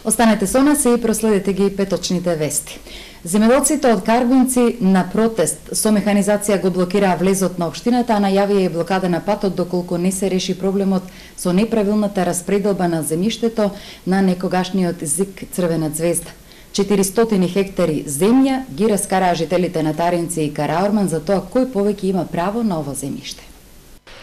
Останете со нас и проследете ги петочните вести. Земјоделците од Карбинци на протест со механизација го блокираа влезот на општината, а најавија и блокада на патот доколку не се реши проблемот со неправилната распределба на земјиштето на некогашниот ЗИК Црвена звезда. 400 хектари земја ги раскараа жителите на Таринци и Караорман за тоа кој повеќе има право на ово земјиште.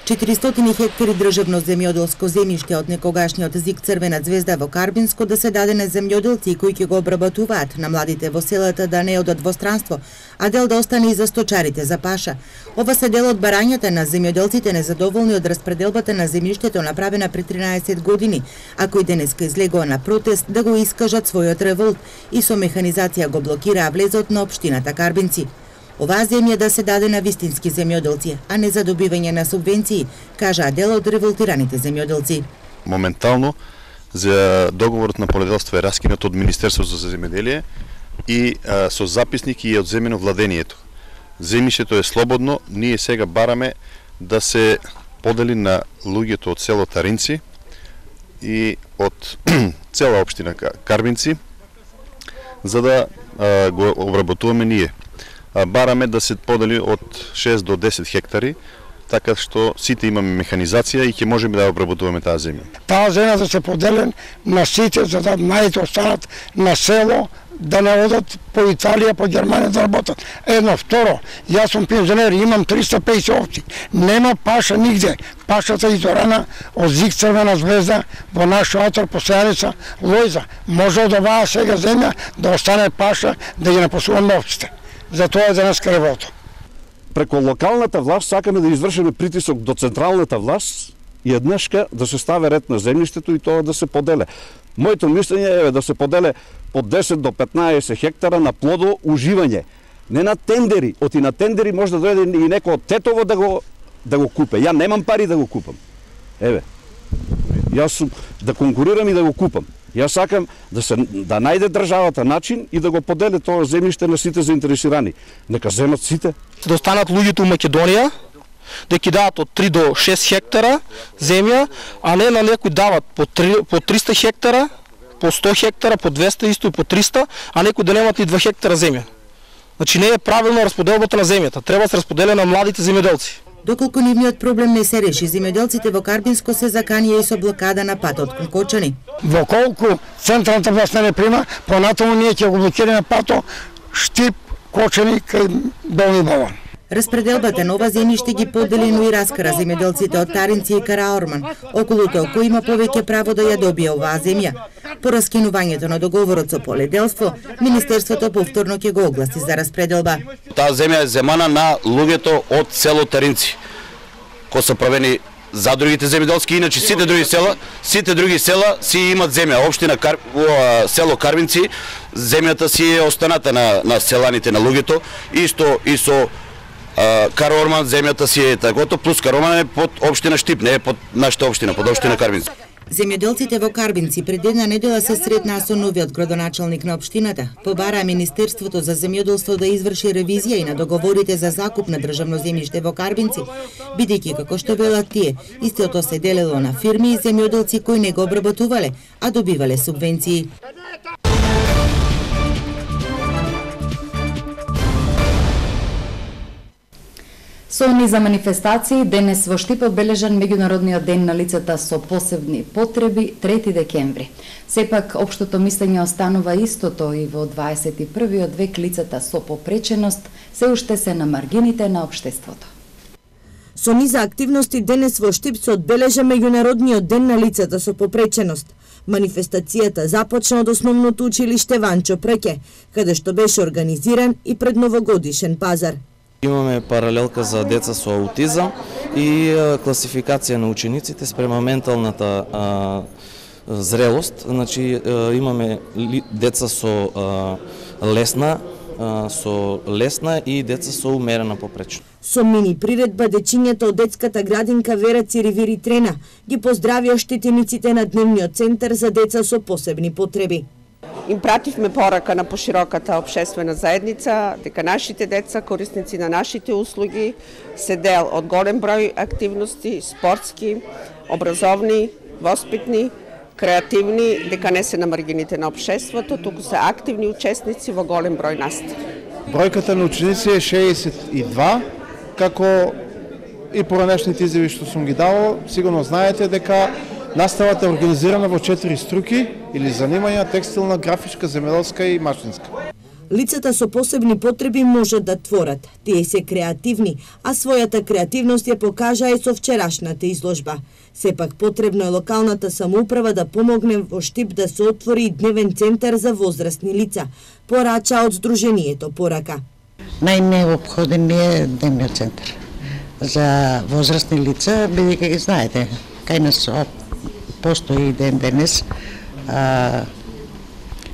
400 хектари државно земјоделско земјиште од некогашниот ЗИК Црвена звезда во Карбинско да се даде на земјоделци кои ќе го обработуваат, на младите во селата да не одат во странство, а дел да остане и за сточарите за паша. Ова се дел од барањата на земјоделците незадоволни од распределбата на земјиштето направена пред 13 години, а кои денеска излегоа на протест да го искажат својот револт и со механизација го блокираа влезот на општината Карбинци. Оваа земја да се даде на вистински земјоделци, а не за добивање на субвенции, кажаа дел од револтираните земјоделци. Моментално за договорот на поледелство е раскинат од Министерството за земјоделие и со записник и е одземено владението. Земјиштето е слободно, ние сега бараме да се подели на луѓето од село Таринци и од цела општина Карбинци, за да го обработуваме ние. Бараме да се подели од 6 до 10 хектари, така што сите имаме механизација и ќе можеме да обработуваме таа земја. Таа земја да се подели на сите, за да мајите останат на село, да не одат по Италија, по Германија да работат. Едно, второ, јас сум пензионер, имам 350 овци, нема паша нигде. Пашата изорана од ЗИК Црвена звезда во наш отор посејаница Лојза. Може од оваа сега земја да остане паша, да ги напасуваме овците. Затоа е денеска револта. Преку локалната власт сакаме да извршиме притисок до централната власт и еднашка да се стави ред на земјиштето и тоа да се поделе. Моето мислење е да се поделе од 10 до 15 хектара на плодо уживање. Не на тендери. Оти на тендери може да дојде и некој од Тетово да го купе. Ја немам пари да го купам. Еве. Јас сум да конкурирам и да го купам. Јас сакам да најде државата начин и да го поделе тоа земјиште на сите заинтересирани. Нека земат сите. Да останат луѓето у Македонија, да ќе дадат од 3 до 6 хектара земја, а не на некои дават по 300 хектара, по 100 хектара, по 200 исто и по 300, а некои да немат и 2 хектара земја. Значи не е правилно расподелбата на земјата. Треба да се расподеля на младите земјоделци. Доколку нивниот проблем не се реши, земјоделците во Карбинско се заканија и со блокада на патот кон Кочани. Во колку централната власт не прима, понатаму ние ќе го блокираме пато Штип, Кочани кај Долни Бован. Распределбата на ова земјиште ги подели, но и раскара земјоделците од Таринци и Караорман, околу тоа кој има повеќе право да ја добие оваа земја. По раскинувањето на договорот со поледелство, Министерството повторно ќе го огласи за распределба. Таа земја е земана на луѓето од село Таринци, кои се правени за другите земјоделски, иначе сите други села си имат земја. Општина село Карбинци, земјата си е останата на селаните, на луѓето, исто и со Караорман земјата си е такото, плюс Караорман е под општина Штип, не е под нашата општина, под општина Карбинци. Земјоделците во Карбинци пред една недела се сретнаа со новиот градоначалник на општината. Побараа Министерството за земјоделство да изврши ревизија и на договорите за закуп на државно земјиште во Карбинци, бидејќи како што велат тие, истото се делело на фирми и земјоделци кои не го обработувале, а добивале субвенции. Со низа манифестации, денес во Штип одбележан меѓународниот ден на лицата со посебни потреби, 3 декември. Сепак, општото мислење останува истото и во 21. век лицата со попреченост се уште се на маргините на општеството. Со низа активности денес во Штип се одбележа меѓународниот ден на лицата со попреченост. Манифестацијата започна од основното училиште Ванчо Преќе, каде што беше организиран и предновогодишен пазар. Имаме паралелка за деца со аутизам и класификација на учениците спрема менталната зрелост. Значи имаме деца со лесна и деца со умерена попречност. Со мини приредба дечињата од детската градинка Вера Циривири Трена ги поздравија штетениците на дневниот центар за деца со посебни потреби. Им пративме порака на пошироката општествена заедница дека нашите деца, корисници на нашите услуги, се дел од голем број активности, спортски, образовни, воспитни, креативни, дека не се на маргините на општеството, туку се активни учесници во голем број настави. Бројката на ученици е 62, како и поранешните изјави што сум ги давал, сигурно знаете дека наставата е организирана во 4 струки или занимања: текстилна, графичка, земјоделска и машинска. Лицата со посебни потреби можат да творат. Тие се креативни, а својата креативност ја покажа и со вчерашната изложба. Сепак потребно е локалната самоуправа да помогне во Штип да се отвори дневен центар за возрастни лица, порача од Сдруженијето Порака. Најнеопходен е дневниот центар за возрастни лица, бидејќи ги знаете, кај нас постои и ден денес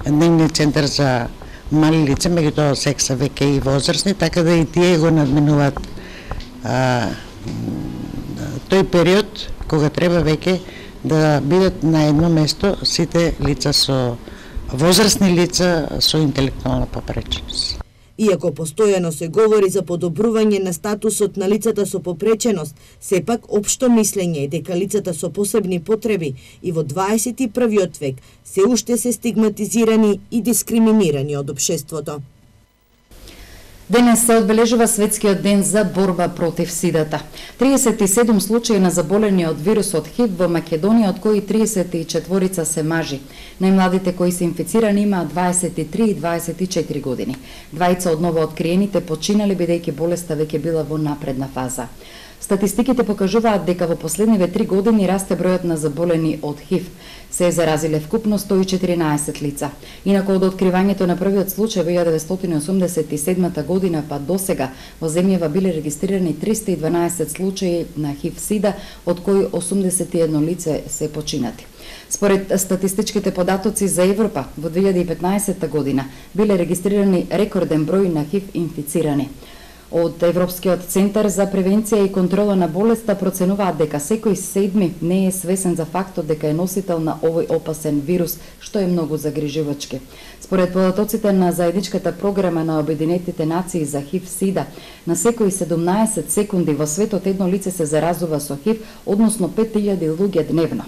дневниот центар за мали лица, меѓутоа секса веќе и возрастни, така да и тие го надменуваат тој период кога треба веќе да бидат на едно место сите лица со возрастни лица со интелектуална попреченост. Иако постојано се говори за подобрување на статусот на лицата со попреченост, сепак општо мислење е дека лицата со посебни потреби и во 21 век се уште се стигматизирани и дискриминирани од општеството. Денес се одбележува Светскиот ден за борба против сидата. 37 случаи на заболени од вирусот ХИВ во Македонија, од кои 34 се мажи. Најмладите кои се инфицирани имаат 23 и 24 години. Двајца од новооткриените починали бидејќи болеста веќе била во напредна фаза. Статистиките покажуваат дека во последниве 3 години расте бројот на заболени од ХИВ. Се заразиле вкупно 114 лица. Инаку од откривањето на првиот случај во 1987 година па до сега во земјава биле регистрирани 312 случаи на ХИВ-сида, од кои 81 лице се починати. Според статистичките податоци за Европа, во 2015 година биле регистрирани рекорден број на ХИВ инфицирани. Од Европскиот центар за превенција и контрола на болеста проценуваат дека секој седми не е свесен за фактот дека е носител на овој опасен вирус, што е многу загрижувачки. Според податоците на заедничката програма на Обединетите нации за ХИВ-сида, на секои 17 секунди во светот едно лице се заразува со ХИВ, односно 5000 луѓе дневно.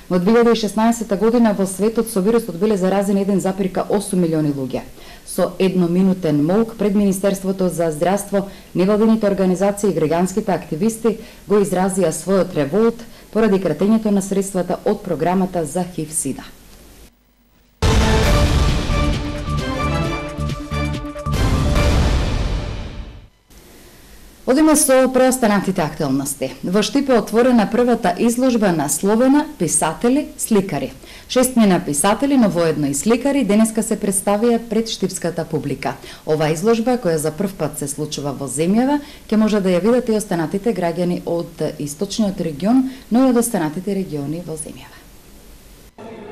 Во 2016 година во светот со вирусот биле заразени 1,8 милиони луѓе. Со едноминутен молк пред Министерството за здравство, невладините организации и граѓанските активисти го изразија својот револт поради кратењето на средствата од програмата за ХИВ-сида. Одиме со преостанатите актуелности. Во Штип е отворена првата изложба на Словена писатели, сликари. 6 писатели, но воедно и сликари, денеска се представија пред штипската публика. Ова изложба, која за прв пат се случува во земјава, ќе може да ја видат и останатите граѓани од источниот регион, но и од останатите региони во земјава.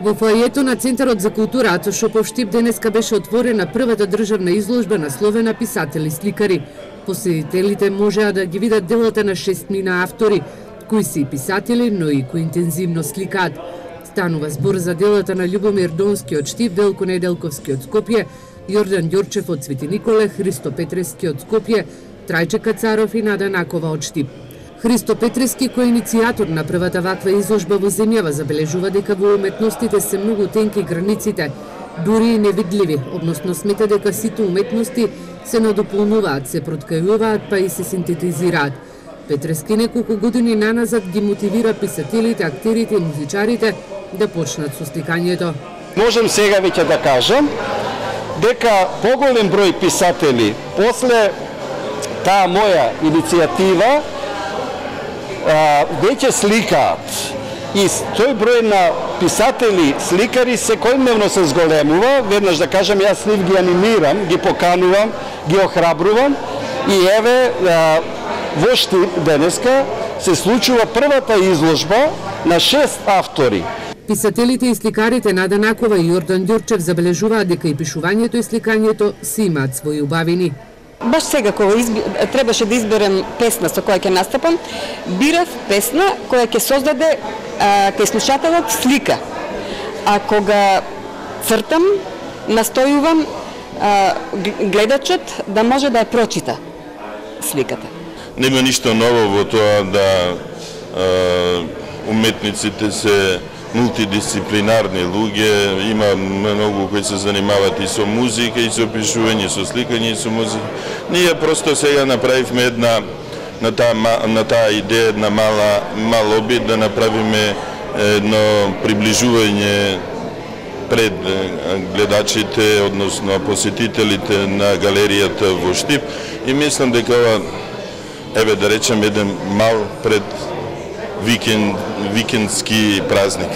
Во фоајето на Центарот за култура Ато Шопов Штип денеска беше отворена првата државна изложба на Словена писатели, сликари. Посетителите можеа да ги видат делата на 6 автори, кои се и писатели, но и кои интензивно сликаат. Станува збор за делата на Љубомир Донски од Штип, Делко Неделковски од Скопје, Јордан Ѓорчев од Свети Николе, Христо Петрески од Скопје, Трајче Кацаров и Нада Накова од Штип. Христо Петрески, кој е иницијатор на првата ваква изложба во земјава, забележува дека во уметностите се многу тенки границите, дури и невидливи, односно смета дека сите уметности се надополнуваат, се проткајуваат, па и се синтетизираат. Петрески неколку години наназад ги мотивира писателите, актерите и музичарите да почнат со сликањето. Можем сега веќе да кажам дека поголем број писатели после таа моја иницијатива веќе сликаат. И тој број на писатели, сликари секојдневно се зголемува. Веднаш да кажам, јас нив ги анимирам, ги поканувам, ги охрабрувам и еве во Штип денеска се случува првата изложба на 6 автори. Писателите и сликарите Нада Накова и Јордан Ѓорчев забележуваат дека и пишувањето и сликањето си имаат своји убавини. Баш сега кога требаше да изберем песна со која ќе настапам, бирав песна која ќе создаде кај слушателот слика. А кога цртам, настојувам гледачот да може да ја прочита сликата. Нема ништо ново во тоа да уметниците се мултидисциплинарни луѓе, има многу кои се занимаваат и со музика, и со пишување, со сликање, и со музика. Ние просто сега направивме една на таа идеја, една мал обид да направиме едно приближување пред гледачите, односно посетителите на галеријата во Штип, и мислам дека ова, еве да речем, еден мал пред викендски празник.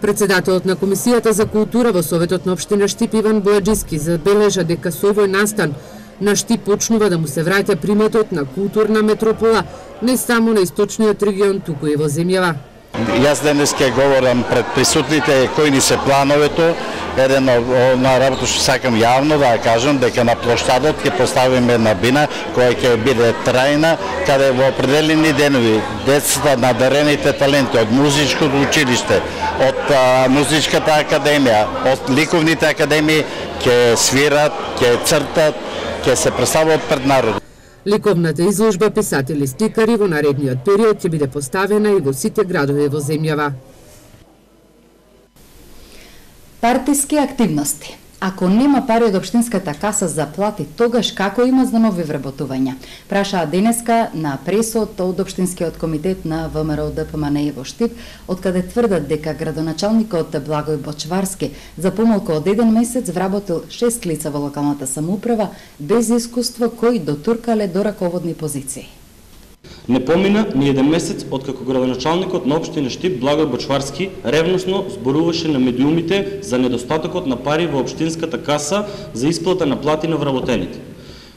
Председателот на Комисијата за култура во Советот на општина Штип Иван Бојаджиски забележа дека со овој настан на Штип почнува да му се враќа приметот на културна метропола не само на источниот регион, туку и во земјава. Јас денес ќе говорам пред присутните кои ни се плановето. Еден на работа што сакам јавно да кажам дека на плоштадот ќе поставиме една бина која ќе биде трајна, каде во определени денови децата, надарените таленти од музичкото училиште, од музичката академија, од ликовните академии ќе свират, ќе цртат, ќе се представуваат пред народ. Ликовната изложба писатели сликари во наредниот период ќе биде поставена и во сите градови во земјава. Партиски активности. Ако нема пари од општинската каса за плати, тогаш како има за нови вработувања? Прашаа денеска на пресот од Општинскиот комитет на ВМРО ДПМН во Штип, откаде тврдат дека градоначалникот Благој Бочварски за помалку од 1 месец вработил 6 лица во локалната самоуправа без искуство кои дотуркале до раководни позиции. Не помина ни 1 месец откако градоначалникот на општина Штип Благој Бочварски ревносно зборуваше на медиумите за недостатокот на пари во општинската каса за исплата на плати на вработените.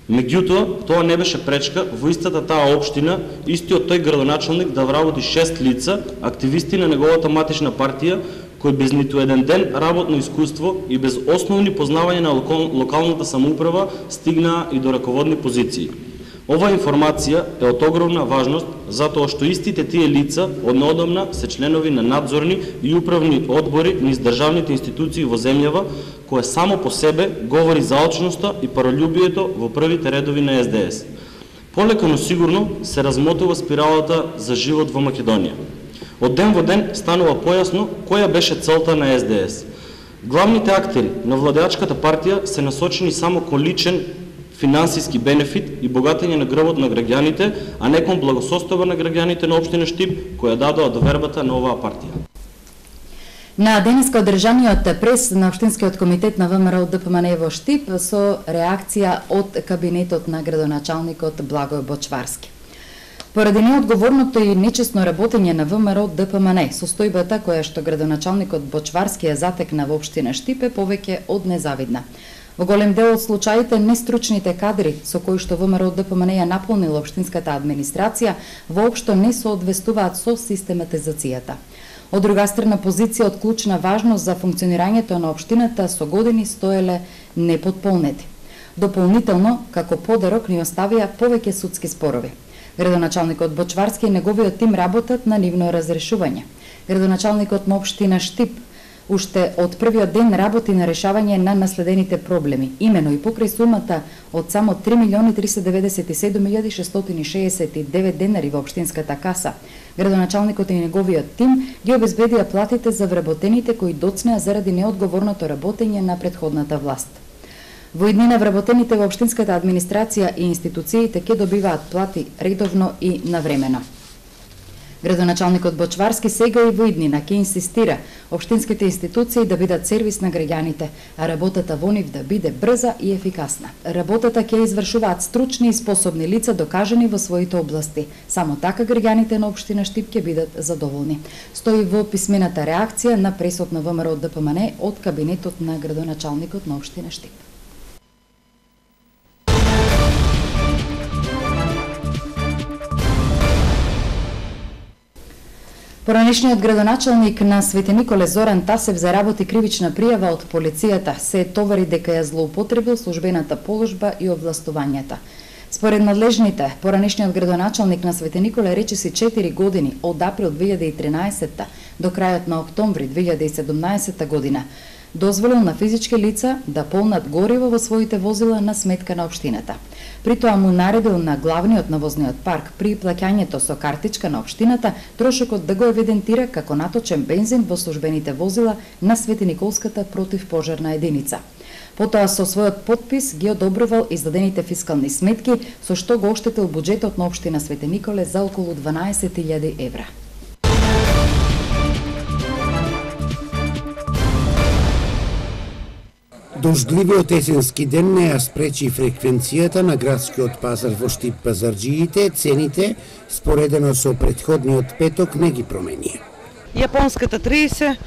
Меѓутоа, тоа не беше пречка во истата таа општина истиот тој градоначалник да вработи 6 лица, активисти на неговата матична партија, кои без ниту еден ден работно искуство и без основни познавања на локалната самоуправа стигнаа и до раководни позиции. Ова информација е од огромна важност затоа што истите тие лица однеодамна се членови на надзорни и управни одбори низ државните институции во земјава, кое само по себе говори за алчноста и паролюбието во првите редови на СДС. Полека но сигурно се размотува спиралата за живот во Македонија. Од ден во ден станува појасно која беше целта на СДС. Главните актери на владеачката партија се насочени само кон личен финансиски бенефит и богатење на грбот на граѓаните, а не кон благосостојба на граѓаните на општина Штип, која дадоа довербата на оваа партија. На денеска одржаниот прес на Општинскиот комитет на ВМРО ДПМН во Штип со реакција од кабинетот на градоначалникот Благој Бочварски. Поради неодговорното и нечесно работење на ВМРО ДПМН, состојбата која што градоначалникот Бочварски ја затекна во општина Штип е повеќе од незавидна. Во голем дел од случаите, нестручните кадри со кои што ВМРО ДПМН ја наполнила општинската администрација воопшто не соодвестуваат со систематизацијата. Од друга страна, позиција од клучна важност за функционирањето на општината со години стоеле непотполнети. Дополнително, како подарок ни оставија повеќе судски спорови. Градоначалникот Бочварски и неговиот тим работат на нивно разрешување. Градоначалникот на општина Штип уште од првиот ден работи на решавање на наследените проблеми, имено и покрај сумата од само 3.037.669 денари во општинската каса. Градоначалникот и неговиот тим ги обезбедија платите за вработените кои доцнеа заради неодговорното работење на претходната власт. Во иднина вработените во општинската администрација и институциите ќе добиваат плати редовно и навремено. Градоначалникот Бочварски сега и во иднина ќе инсистира општинските институции да бидат сервис на граѓаните, а работата во нив да биде брза и ефикасна. Работата ќе извршуваат стручни и способни лица докажани во своите области. Само така граѓаните на општина Штип ќе бидат задоволни. Стои во писмената реакција на пресот на ВМРО ДПМН од кабинетот на градоначалникот на општина Штип. Поранешниот градоначалник на Свети Николе Зоран Тасев заработи кривична пријава од полицијата, се товари дека ја злоупотребил службената положба и овластувањата. Според надлежните, поранешниот градоначалник на Свети Николе речиси 4 години од април 2013 до крајот на октомври 2017 година дозволил на физички лица да полнат гориво во своите возила на сметка на општината. При тоа му наредил на главниот на возниот парк при плаќањето со картичка на општината трошокот да го евидентира како наточен бензин во службените возила на Свети Николската противпожарна единица. Потоа со својот подпис ги одобрувал издадените фискални сметки, со што го оштетил буџетот на општина Свети Николе за околу 12.000 евра. Дождливиот есенски ден не ја спречи фреквенцијата на градскиот пазар во Штип пазарџиите, цените, споредено со претходниот петок, не ги промени. Јапонската 30,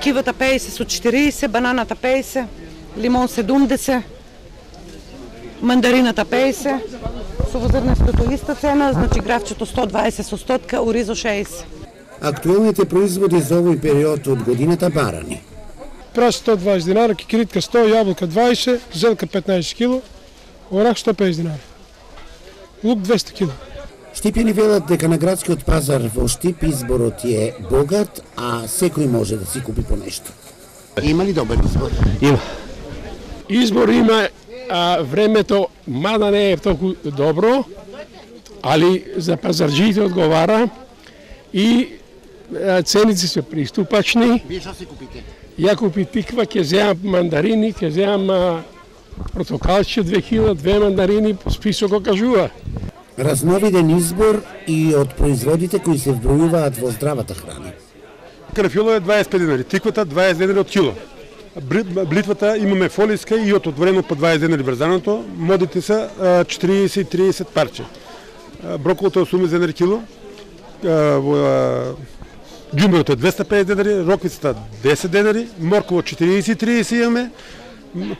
кивата 50 со 40, бананата 50, лимон 70, мандарината 50, совозрнестото иста цена, значи гравчето 120 со 100, оризо 60. Актуелните производи за овој период од годината барани. Прас 120 динари, кикиритка 100, јаболка 20, зелка 15 кг, орах 150 динари. Лук 200 кг. Штипјани велат дека на градскиот пазар во Штип изборот е богат, а секој може да си купи по нешто. Има ли добар избор? Има. Избор има, а времето мада не е толку добро, али за пазарџиите одговара и ценици се приступачни. Вие што си купите? Ја купи тиква, ќе земам мандарини, ќе земам портокалче 2 кг, 2 мандарини, список го кажува. Разновиден избор и од производите кои се вбројуваат во здравата храна. Карафило е 25 динари, тиквата 20 динари од кило. Блитвата имаме фолиска и од отворено по 20 динари брзаното, модите се 40 и 30 парче. Броколото е 80 динари кило, ѓумберото е 250 денари, роквицата 10 денари, морково 40-30 имаме,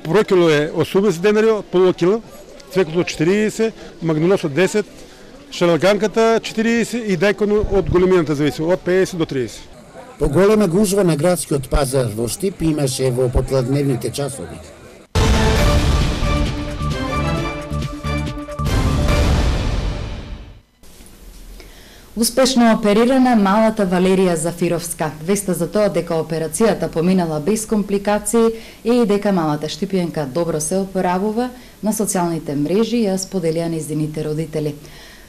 прокило е 80 денари, полова кило, цвеклото 40, магнолосот 10, шалаганката 40 и дајкон од големината зависи, од 50 до 30. Поголема гужва на градскиот пазар во Штип имаше во попладневните часови. Успешно оперирана малата Валерија Зафировска. Веста за тоа дека операцијата поминала без компликации и дека малата штипјанка добро се опоравува, на социјалните мрежи ја споделија нејзините родители.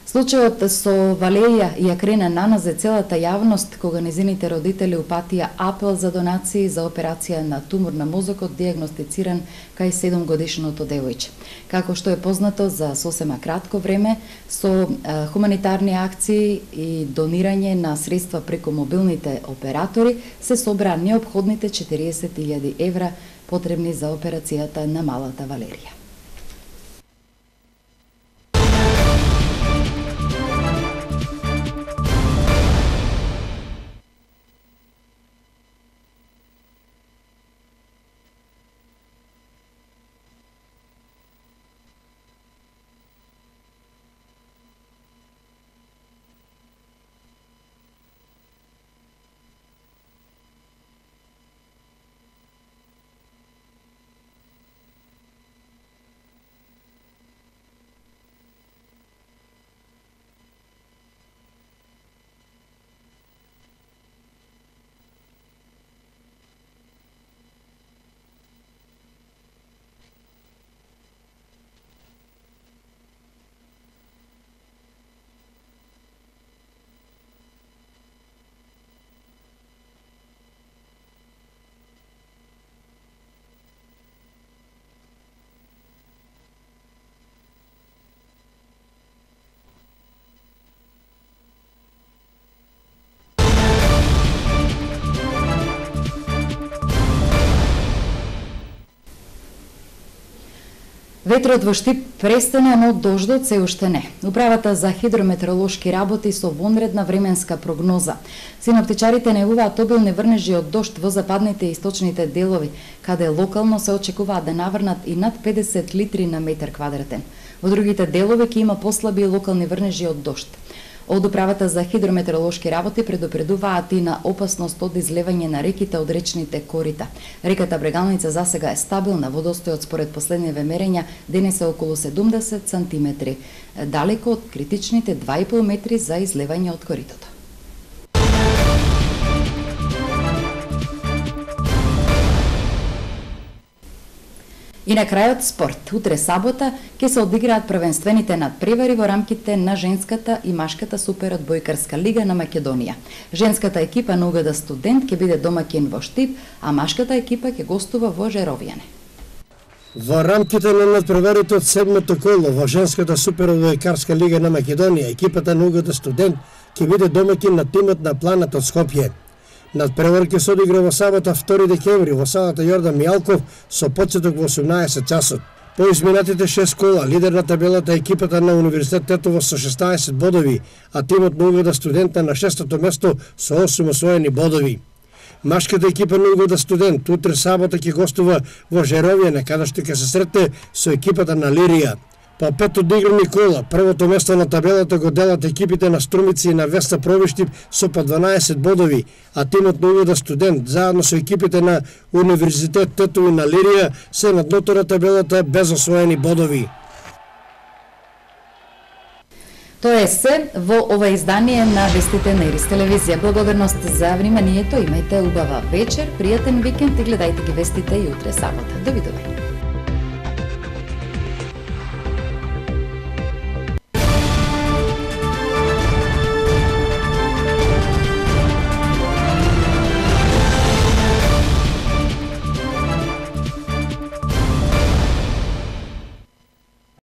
Случајот со Валерија ја крена наназе целата јавност кога нејзините родители упатија апел за донации за операција на тумор на мозокот дијагностициран кај 7-годишното девојче. Како што е познато за сосема кратко време, со хуманитарни акции и донирање на средства преку мобилните оператори се собра неопходните 40.000 евра потребни за операцијата на малата Валерија. Ветрот во Штип престана, но дождот се уште не. Управата за хидрометеоролошки работи со вонредна временска прогноза. Синоптичарите најавуваат обилни врнежи од дожд во западните и источните делови, каде локално се очекуваат да наврнат и над 50 литри на метар квадратен. Во другите делови ќе има послаби локални врнежи од дожд. Од управата за хидрометеоролошки работи предупредуваат и на опасност од излевање на реките од речните корита. Реката Брегалница засега е стабилна, водостојот според последниве мерења денес е околу 70 сантиметри, далеко од критичните 2,5 метри за излевање од коритото. И на крајот спорт. Утре сабота ќе се одиграат првенствените надпревари во рамките на женската и машката суперодбојкарска лига на Македонија. Женската екипа на УГД Студент ќе биде домаќин во Штип, а машката екипа ќе гостува во Жеровјане. Во рамките на надпреварите од седмото коло во женската суперодбојкарска лига на Македонија, екипата на УГД Студент ќе биде домаќин на тимот на Планет од Скопје. Надпревар ќе се одигра во сабота 2 декември во салата Јордан Мијалков со почеток во 18 часот. По изминатите 6 кола, лидер на табелата екипата на Универзитет Тетово со 16 бодови, а тимот на УГД Студент на 6-то место со 8 освоени бодови. Машката екипа на УГД Студент утре сабота ќе гостува во Жеровјане, каде што ќе се сретне со екипата на Лирија. По 5 одиграни кола, првото место на табелата го делат екипите на Струмици и на Веста Провиштип со по 12 бодови, а тимот на УГД Студент заедно со екипите на Универзитет Тетово и на Лирија се на дното на табелата без освоени бодови. Тоа е се во ова издание на вестите на Ирис телевизија. Благодарност за вниманието, имајте убава вечер, пријатен викенд и гледајте ги вестите и утре сабота. Довидување.